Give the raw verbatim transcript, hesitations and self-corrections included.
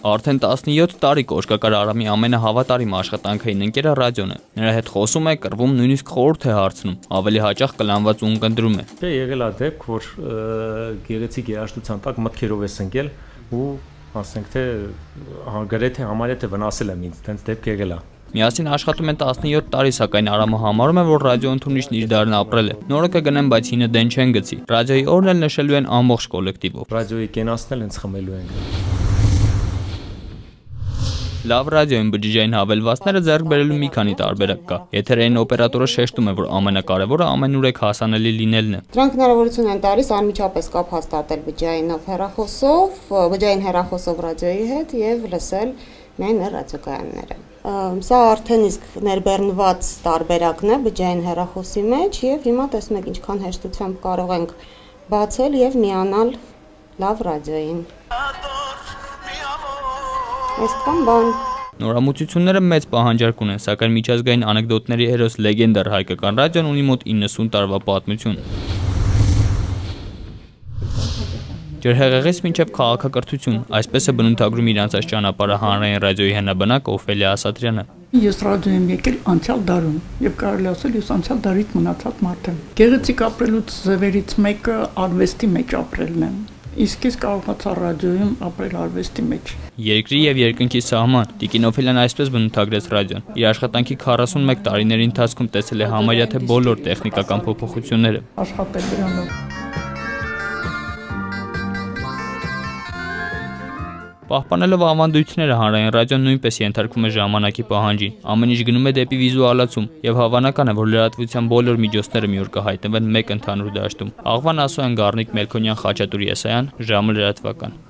Արդեն տասնյոթ տարի Կոշկակար Արամի ամենահավատարիմ աշխատանքային ընկերը ռադիոն է։ Նրա հետ խոսում է, կռվում, նույնիսկ խորհուրդ է հարցնում, ավելի հաճախ կլանված ու ընկնդրում է։ Դե եղել է դեպք, որ գեղեցիկ երաժշտության տակ մտքերով ես ընկել ու ասենք թե գրեթե համարյա թե վնասել եմ ինձ, տենց դեպք եղել է։ Միասին աշխատում են տասնյոթ տարի, սակայն Արամը համարում է, որ ռադիո ընդունիչն իր դարն ապրել է։ Նորը կգնեն, բայց հինը դեն չեն գցի։ Ռադիոյի օրն էլ նշելու են ամբողջ կոլեկտիվով։ Ռադիոյի կենացնել հենց խմելու ենք։ Լավ ռադիոյին բջջային հավելվածները ձեռք բերելու մի քանի տարբերակ կա։ Եթերային օպերատորը շեշտում է, որ ամենակարևորը ամենուրեք հասանելի լինելն է։ Դրանք հնարավորություն են տալիս անմիջապես կապ հաստատել բջջայինով հեռախոսով, բջջային հեռախոսով ռադիոյի հետ եւ լսել միայն ռադիոկայանները։ Սա արդեն իսկ ներբեռնված տարբերակն է բջջային հեռախոսի մեջ եւ հիմա տեսնում եք ինչքան հեշտությամբ կարող ենք բացել եւ միանալ լավ ռադիոյին։ Այսքան բան։ Նորամուծությունները մեծ պահանջարկ ունեն, սակայն միջազգային անեկդոտների հերոս լեգենդար հայկական ռադիոն ունի մոտ իննսուն տարվա պատմություն։ Ջրհեղեղից մինչև քաղաքակրթություն, այսպես է բնութագրում իր անցած ճանապարհը հանրային ռադիոյի հնաբնակ Օֆելիա Ասատրյանը։ Ես ռադիո եմ եկել անցյալ դարում եւ կարելի ասել ես անցյալ դարից մնացած մարդ եմ։ Գեղեցիկ ապրելուց ձևերից մեկը արվեստի մեջ ապրելն է։ Իսկ ես կարողացա ռադիոյում ապրել արվեստի մեջ։ Երկրի եւ երկնքի սահման Տիկին Օֆելիան այսպես բնութագրեց ռադիոն։ Իր աշխատանքի քառասունմեկ տարիների ընթացքում տեսել է համարյա թե բոլոր տեխնիկական փոփոխությունները։ Աշխատել դրանով։ Պահպանելով ավանդույթները հանրային ռադիոն նույնպես ենթարկվում է ժամանակի պահանջին։ Ամեն ինչ գնում է դեպի վիզուալացում եւ հավանական է, որ լրատվության բոլոր միջոցները մի օր կհայտնվեն մեկ ընդհանուր դաշտում։ Աղվան Ասոյան, Գառնիկ Մելքոնյան, Խաչատուր Եսայան, ժամը լրատվական։